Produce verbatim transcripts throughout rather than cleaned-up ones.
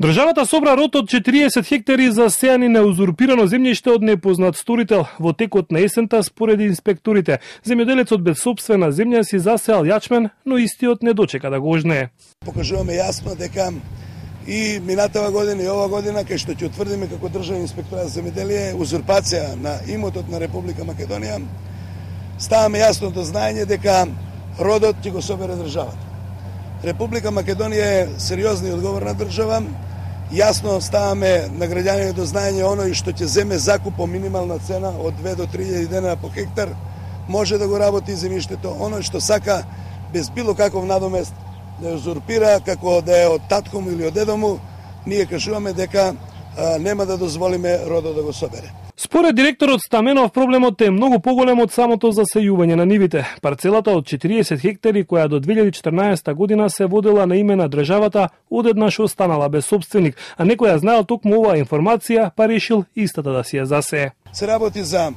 Државата собра род од четириесет хектари засејани на узурпирано земјиште од непознат сторител. Во текот на есента, според инспекторите, земјоделецот без сопствена земја си засеал јачмен, но истиот не дочека да го ожнее. Покажуваме јасно дека и минатава година и ова година, кај што ќе утврдиме како државен инспекторат за земјоделие узурпација на имотот на Република Македонија, ставаме јасно до знаење дека родот ќе го собере државата. Република Македонија е сериозна и одговорна држава. Јасно ставаме на граѓаните до знаење оној што ќе земе закуп по минимална цена од две до три илјади денара по хектар, може да го работи земјиштето. Оној што сака без било каков надомест да ја узурпира, како да е од татко му или од дедо му, ние кажуваме дека а, нема да дозволиме родот да го собере. Според директорот Стаменов, проблемот е многу поголем од самото засејување на нивите. Парцелата од четириесет хектари, која до две илјади и четрнаесета година се водела на име на државата, одеднаш останала без собственик, а некој ја знаел токму оваа информација, па решил истата да си ја засее. Се работи за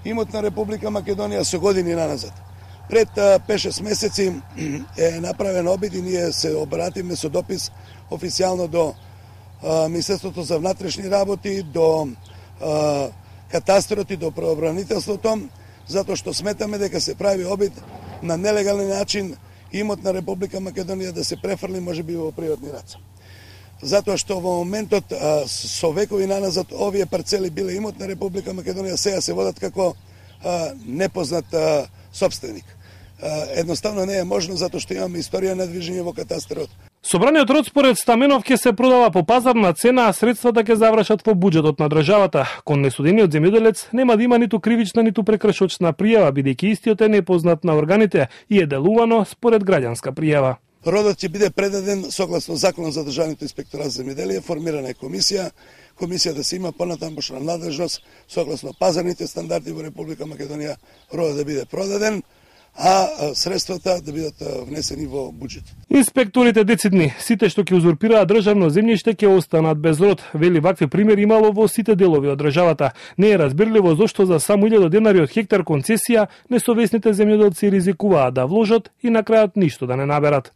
имот на Република Македонија со години наназад. Пред пет-шест месеци е направен обид и ние се обративме со допис официјално до Министерството за внатрешни работи, до катастрот и до правобранителството, затоа што сметаме дека се прави обид на нелегален начин имот на Република Македонија да се префрли можеби во приватни раце. Затоа што во моментот со векови наназад овие парцели биле имот на Република Македонија, сега се водат како непознат сопственик. Едноставно не е можно затоа што имаме историја на движење во катастрот. Собраниот род според Стаменов ќе се продава по пазарна цена, а средствата ќе завршат во буџетот на државата. Кон несудениот земјоделец нема да има ниту кривична ниту прекршочна пријава, бидејќи истиот е непознат на органите и е делувано според граѓанска пријава. Родот ќе биде предаден согласно Законот за државниот инспекторат за земјоделие, формирана е комисија, комисија да се има понатамошна надлежност согласно пазарните стандарди во Република Македонија, родот да биде продаден, а средствата да бидат внесени во буџет. Инспекторите децидни, сите што ќе узурпираат државно земјиште ќе останат без род. Вели, вакви примери имало во сите делови од државата. Не е разбирливо зошто за само илјада денари од хектар концесија несовесните земјоделци ризикуваат да вложат и на крајот ништо да не наберат.